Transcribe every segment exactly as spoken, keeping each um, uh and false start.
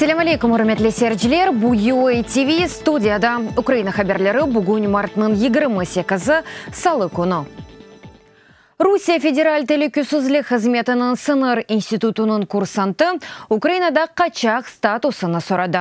Selâm aleyküm, ürmetli seyirciler. Bu U A T V studiyada Ukraina haberleri, bugün martnıñ yigirmi sekizi, salı künü. Rusiye Federal Telükesizlik Hızmetiniñ sıñır institutınıñ kursantı Ukrainada qaçaq statusını soradı.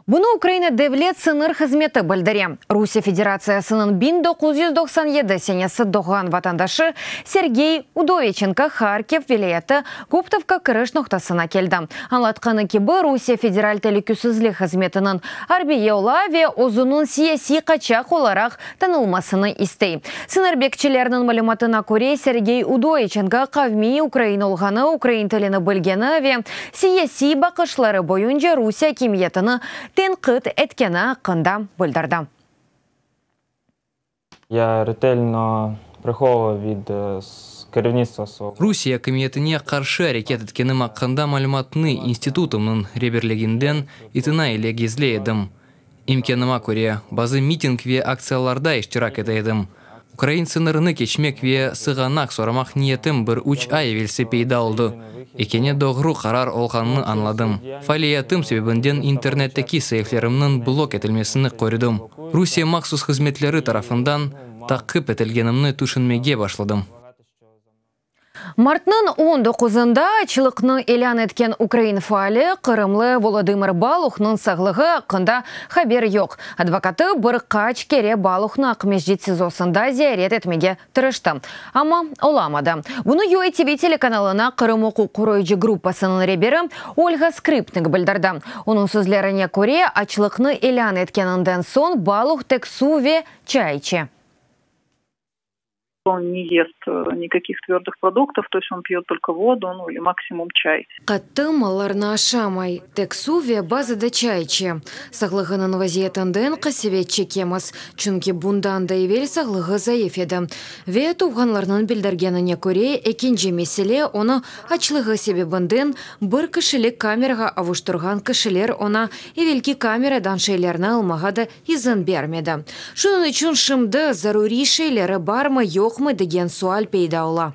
Bunı Ukraina Devlet sıñır hızmeti bildire. Rusiye Federatsiyasınıñ biñ doquz yüz doqsan yedi senesi doğğan vatandaşı Sergey Udoviçenko Harkiv vilâyeti Goptovka kiriş noqtasına keldi. Añlatqanı kibi, Rusiye Federal Telükesizlik Hızmetiniñ arbiyi ola ve özüniñ siyasiy qaçaq olaraq tanılmasını istey. Sıñır bekçileriniñ malümatına köre, Sergey Udoviçenko qavmiy ukrain olğanı, ukrain tilini bilgeni ve siyasiy baqışları boyunca Rusiye akimiyetini tenqit etkeni aqqında bildirdi. Я ретельно приховував від е, с- керівництва свого. Rusiye akimiyetine qarşı areket etkenim aqqında malümatnı institutımnıñ reberliginden itina ile gizley edim. İmkânıma köre, bazı miting ve aktsiyalarda iştirak ete edim. Ukrain sıñırını keçmek ve sığanaq soramaq niyetim bir üç ay evelsi peyda oldı. Ekeni doğru qarar olğanını añladım. Faaliyetim sebebinden internetteki saifelerimniñ blok etilmesini kördim. Rusiye mahsus hızmetleri tarafından taqip etilgenimni tüşünmege başladım. Martnıñ on doquzında açlıqnı ilân etken ukrain faali, qırımlı Volodımır Baluhnıñ sağlığı aqqında haber yoq. Advokatı bir qaç kere Baluhnı Aqmescit SİZOsında ziyaret etmege tırıştı. Amma olamadı. Bunı U A T V telekanalına Qırım uquq qoruyıcı gruppasınıñ reberi Olga Skripnik bildirdi. Onıñ sözlerine köre, açlıqnı ilân etkeninden soñ Baluh tek suv ve çay içe. Он не ест э, никаких твердых продуктов, то есть он пьет только воду, ну или максимум чай. Qattı mallarnı aşamay, tek suv ve bazıda çay içe. Sağlığınıñ vaziyetinden qasevet çekemiz, çünki bundan da evel sağlığı zayıf edi. Ve tuvğanlarınıñ bildirgenine köre, ekinci mesele, onı açlığı sebebinden bir kişilik kamerağa avuştırğan kişiler oña evelki kameradan şeylerni almağa da izin bermedi. Şunıñ içün şimdi zaruriy şeyleri barmı yoqmı degen sual peyda ola.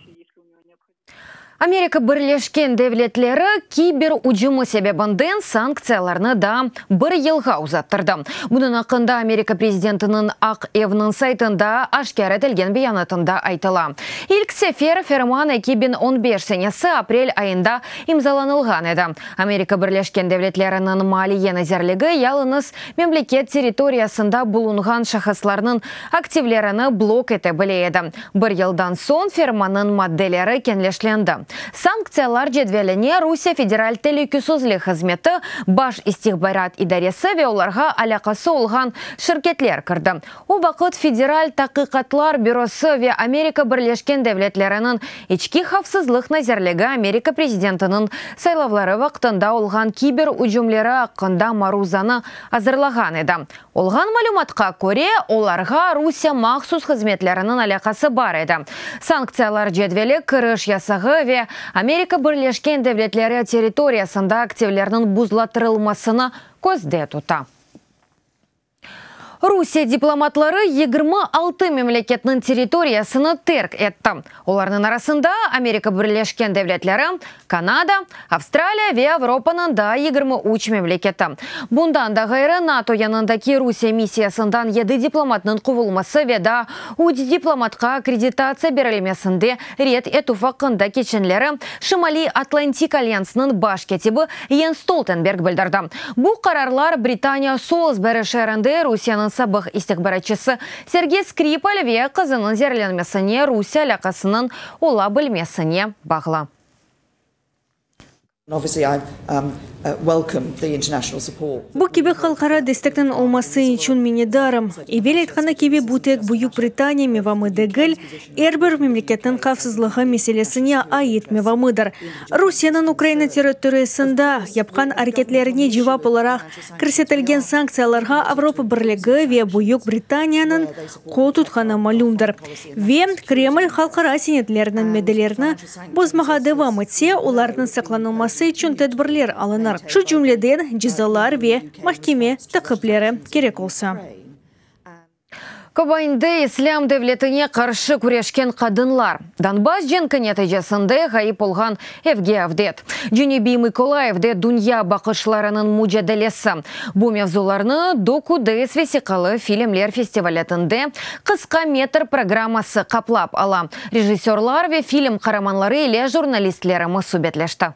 Amerika Birleşken Devletleri kiber ücümi sebebinden sanktsiyalarnı daa bir yılğa uzattırdı. Bunıñ aqqında Amerika prezidentiniñ Aq Evniñ saytında aşkâr etilgen beyanatında aytıla. İlk sefer ferman eki biñ on beş senesi aprel ayında imzalanılğan edi. Amerika Birleşken Devletleriniñ Maliye nazirligi yalıñız memleket territoriyasında bulunğan şahıslarnıñ aktivlerini blok ete bile edi. Bir yıldan soñ fermannıñ maddeleri keñleştirildi. Sanktsiyalar cedveline Rusiye Federal Telükesizlik Hızmeti, Baş istihbarat idaresi ve olarğa alâqası olğan şirketler kirdi. O vaqıt Federal Taqiqatlar bürosı ve Amerika Birleşken Devletleriniñ İçki havfsızlıq nazirligi Amerika prezidentiniñ saylavları vaqtında olğan kiber ücümleri aqqında maruzanı azırlağan edi. Olğan malümatqa köre, olarğa Rusiye mahsus hızmetleriniñ alâqası bar edi. Sanktsiyalar cedveli kiriş yasağı ve Amerika Birleşken Devletleri territoriyasında aktivlerniñ buzlattırılmasını közde tuta. Rusiye diplomatları yigirmi altı memleketniñ territoriyasını terk etti. Olarnıñ arasında Amerika Birleşken Devletleri, Kanada, Avstraliya ve Avropanıñ daa yigirmi üç memleketi. Bundan da ğayrı, NATO yanındaki Rusiye missiyasından yedi diplomatnıñ quvulması ve daa üç diplomatqa akkreditatsiya berilmesinde red etüv aqqında keçenleri Şimaliy Atlantik Alyansınıñ baş kâtibi Jens Stoltenberg bildirdi. Bu qararlar Britaniya Solsberi şeerinde Rusiyeniñ sabıq istihbaratçısı Sergey Skripal ve qızınıñ zeerlenmesine Rusiye alâqasınıñ ola bilmesine bağlı. Obviously, I um, uh, welcome the international support. Bu kibi halqara destekniñ olması içün minnetdarım. Evel aytqanı kibi, bu tek Büyük Britaniya mevamı degil, er bir memleketniñ havfsızlığı meselesine ait mevamıdır. Rusiyeniñ Ukraina territoriyasında yapqan areketlerine cevap olaraq kirsetilgen sanktsiyalarğa Avropa Birligi ve Büyük Britaniyanıñ qol tutqanı malümdir. Ve Kreml halqara senetlerniñ maddelerini bozmağa devam etse, olarnıñ saqlanılması içün tedbirler alınır. Şu cümleden cezalar ve mahkeme taqipleri kerek olsa. Kobanide İslâm devletine qarşı küreşken qadınlar. Donbass cenki neticesinde ğayıp olğan evge avdet. Cenübiy Mıkolayivde dünya baqışlarınıñ mucadelesi. Bu mevzularnı Docudays vesiqalı filmler festivalinde qısqa metr programması qaplap ala. Rejissörlar ve film qaramanları ile jurnalistlerimiz subetleşti.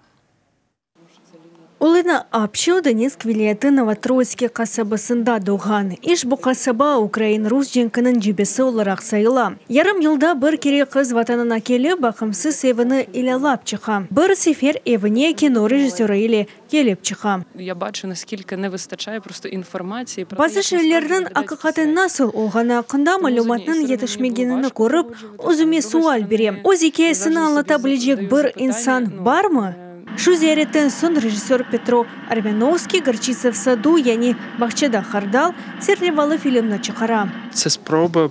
Olena Apşo Donetsk vilâyeti Novotroitske qasabasında doğğan. İşbu qasaba ukrain-rus cenkiniñ cebesi olaraq sayıla. Yarım yılda bir kere qız vatanına kelip, baqımsız evini ilâlap çıqa. Bir sefer evine kino rejissörı ile kelip çıqa. Я бачу, наскільки не вистачає просто інформації про те, Bazı як насправді şeylerniñ виглядають aqiqaten nasıl olğanı aqqında malümatnıñ yetişmegenini körip, özüme sual berem. Öz ikâyesini añlata bilecek bir insan barmı? Şu ziyaretten soñ rejissör Petro Armyanovskiy Горчица в саду, yani Bağçada hardal serlevalı filmni çıqara. Це спроба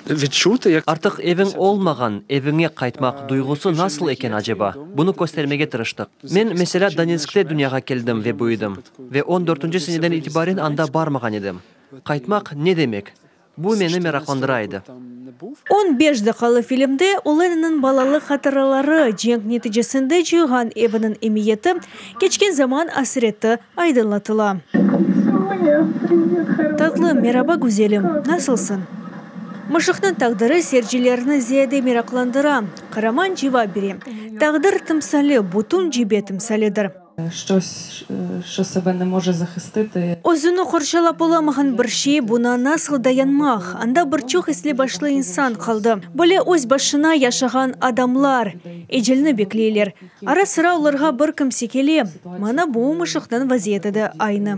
відчути, як Artıq eviñ olmağan eviñe qaytmaq duyğusı nasıl eken aceba? Bunı köstermege tırıştıq. Men, meselâ, Donetskte dünyağa keldim ve büyüdim. Ve on dörtünci seneden itibaren anda barmağan edim. Qaytmaq ne demek? Bu meni meraqlandıra edi. On beş daqqalı filmde Olenanıñ balalıq hatıraları, cenk neticesinde coyğan eviniñ emiyeti, keçken zaman asreti aydınlatıla. Tatlı, meraba, güzelim, nasılsıñ? Mışıqnıñ taqdiri seyircilerni ziyade meraqlandıra. Qaraman cevap bere. Taqdir timsali, bütün cebe timsalidir. Щось, що себе не може захистити. Özüni qorçalap olamağan bir şey buña nasıl dayanmaq? Anda bir çoq esli-başlı insan qaldı. Böyle öz başına yaşağan adamlar ecelni bekleyler. Ara-sıra olarğa bir kimse kele. Mına bu mışıqnıñ vaziyeti de aynı.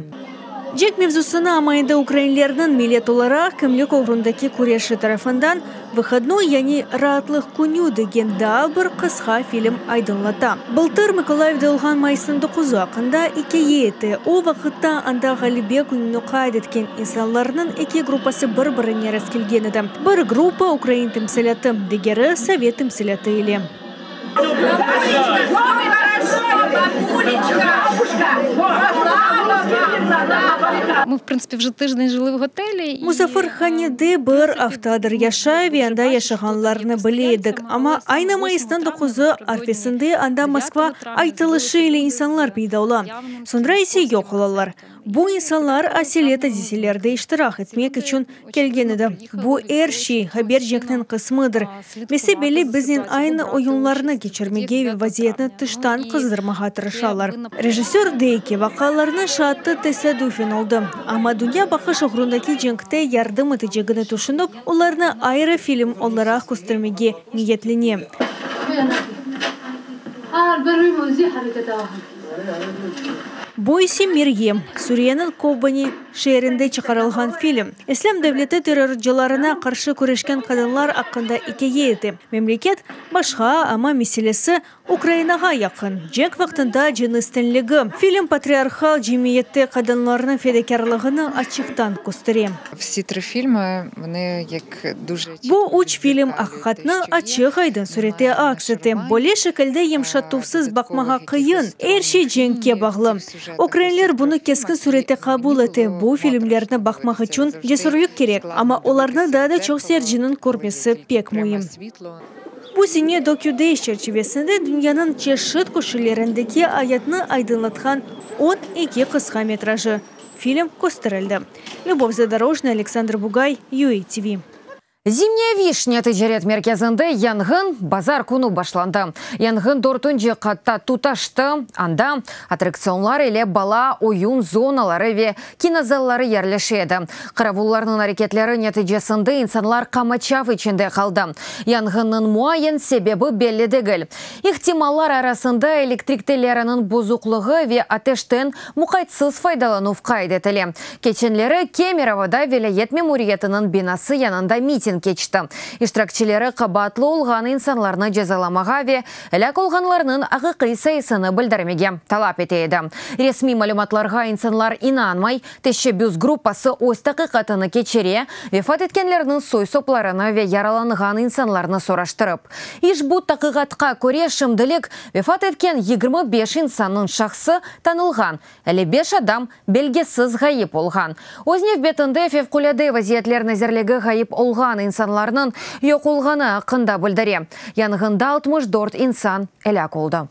Cenk mevzusını, amma endi ukrainlerniñ millet olaraq kimlik oğrundaki küreşi tarafından Выходной, yani raatlıq künü degen daa bir qısqa film aydınlata. Bıltır Mıkolayivde olğan mayısnıñ doquzı aqqında ikâye ete. O vaqıtta anda Ğalebe kününi qayd etken insanlarnıñ eki gruppası bir-birine rastkelgen edi. Bir gruppa ukrain timsalâtı, digeri sovet timsalâtı ile. Ми, в принципі, вже тиждень жили в готелі. І Musafirhanede bir aftadır yaşay ve anda yaşağanlarnı bile edik. Amma aynı mayısnıñ doquzı arfesinde anda Moskva aytılışı ile insanlar peyda ola. Soñra ise yoq olalar. Bu insanlar aselet adiselerde iştirak etmek içün kelgen edi. Bu er şey haber cenkniñ qısmıdır. Bese-belli biznen aynı oyunlarnı keçirmege ve vaziyetni tıştan qızdırmağa tırışalar. Rejissör dey ki, vaqialarnıñ şaatı tesadüfen oldı. Amma dünya baqış oğrundaki cenkte yardım etecegini tüşünip, olarnı ayrı film olaraq köstermege niyetlene. Bu ise Meryem, Suriyeniñ Kobani şeerinde çıqarılğan film. İslâm devleti terrorcılarına qarşı küreşken qadınlar aqqında ikâye ete. Memleket başqa, amma meselesi Ukrainağa yaqın, cenk vaqtında cınıs teñligi. Film patriarhal cemiyette qadınlarnıñ fedakârlığını açıqtan köstere. Всі три фільми, вони як дуже Bu üç film aqiqatnı açıq-aydın sürette aks ete. Böyle şekilde yımşatuvsız baqmağa qıyın. Er şey cenkke bağlı. Ukrainler bunı keskin sürette qabul ete. Bu filmlerni baqmaq içün cesürlik kerek, amma olarnı daa da çoq seyirciniñ körmesi pek müim. Bu sene Docudays çerçivesinde dünyanıñ çeşit köşelerindeki ayatnı aydınlatqan on eki qısqa metrajlı film kösterildi. Lübov Zadorojnaya, Aleksandr Bugay, U A T V. Zimnyaya vişnâ ticaret merkezinde yanğın bazar künü başlandı. Yanğın dörtünci qatta tutaştı. Anda attraktsionlar ile bala oyun zonaları ve kinozalları yerleşe edi. Qaravullarnıñ areketleri neticesinde insanlar qamaçav içinde qaldı. Yanğınnıñ muayen sebebi belli degil. İhtimallar arasında elektrik telleriniñ bozuqlığı ve ateşten muqaytsız faydalanuv qayd etile. Keçenleri Kemerovoda vilâyet memuriyetiniñ binası yanında miting miting keçti. İştirakçileri qabaatlı olğan insanlarnı cezalamağa ve elâk olğanlarnıñ aqiqiy sayısını bildirmege talap ete edi. Resmiy malümatlarğa insanlar inanmay, teşebbüs gruppası öz taqiqatını keçire, vefat etkenlerniñ soy-soplarını ve yaralanğan insanlarnı soraştırıp. İşbu taqiqatqa köre şimdilik vefat etken yigirmi beş insannıñ şahsı tanılğan, elli beş adam belgisiz ğayıp olğan. Öz nevbetinde Fevqulâde vaziyetler nazirligi ğayıp olğan insanlarnıñ yoq olğanı aqqında bildire. Yanğında altmış dört insan elâk oldı.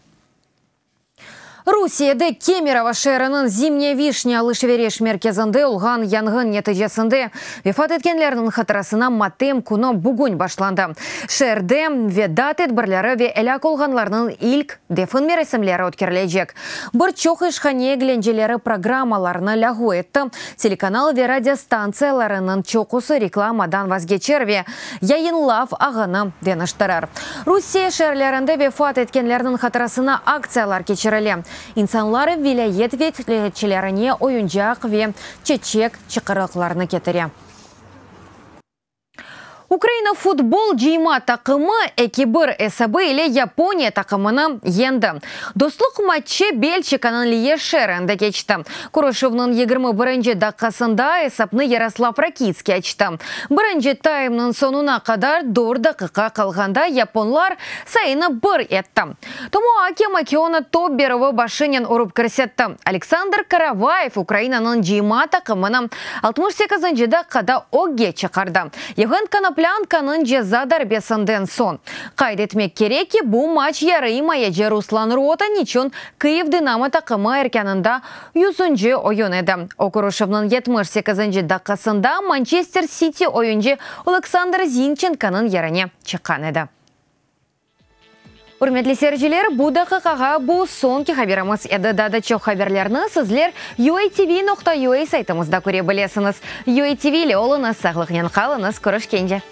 Rusiyede Kemerovo şeeriniñ Zimnya Vişnya alış-veriş merkezinde olğan yanğın neticesinde vefat etkenlerniñ hatırasına matem künü bugün başlandı. Şeerde veda tedbirleri ve elâk olğanlarnıñ ilk defin merasimleri ötkerilecek. Bir çoq işhane eglenceleri programmalarını lâğu etti. Telekanal ve radiostantsiyalarınıñ çoqusı reklamadan vazgeçer ve yayınlav ağını deñiştirir. Rusiye şeerlerinde vefat etkenlerniñ hatırasına aktsiyalar keçirile. İnsanlar vilâyet vekâletçilerine oyuncaq ve çeçek çıqırıqlarını ketire. Ukraina futbol cıyma taqımı eki bir esabı ile Yaponiya taqımını yendi. Dostluq matçı Belçikanıñ Liye şeerinde keçti. Körüşüvniñ yigirmi birinci daqqasında esapnı Yaroslav Rakitskiy açtı. Birinci taymnıñ soñuna qadar dört daqiqa qalğanda yaponlar sayını bir etti. Tomoaki Makiona top berüvi başınen urıp kirsetti. Aleksandr Karavayev Ukrainanıñ cıyma taqımını altmış sekizinci daqqada ögge çıqardı. Yevhen Konoplânkanıñ ceza darbesinden soñ. Qayd etmek kerek ki, bu maç yarıimayeci Ruslan Rotan içün Kyiv Dinamo taqımı erkânında yüzünci oyun edi. O, körüşüvniñ yetmiş sekizinci daqqasında Mançester Siti oyuncı Oleksandr Zinçenkonıñ yerine çıqqan edi. Ürmetli seyirciler, bu daqiqağa bu soñki haberimiz edi. Daa da çoq haberlerni sizler U A T V nokta U A saytımızda köre bilesiñiz. U A T V ile oluñız, sağlıqnen qalıñız, körüşkence.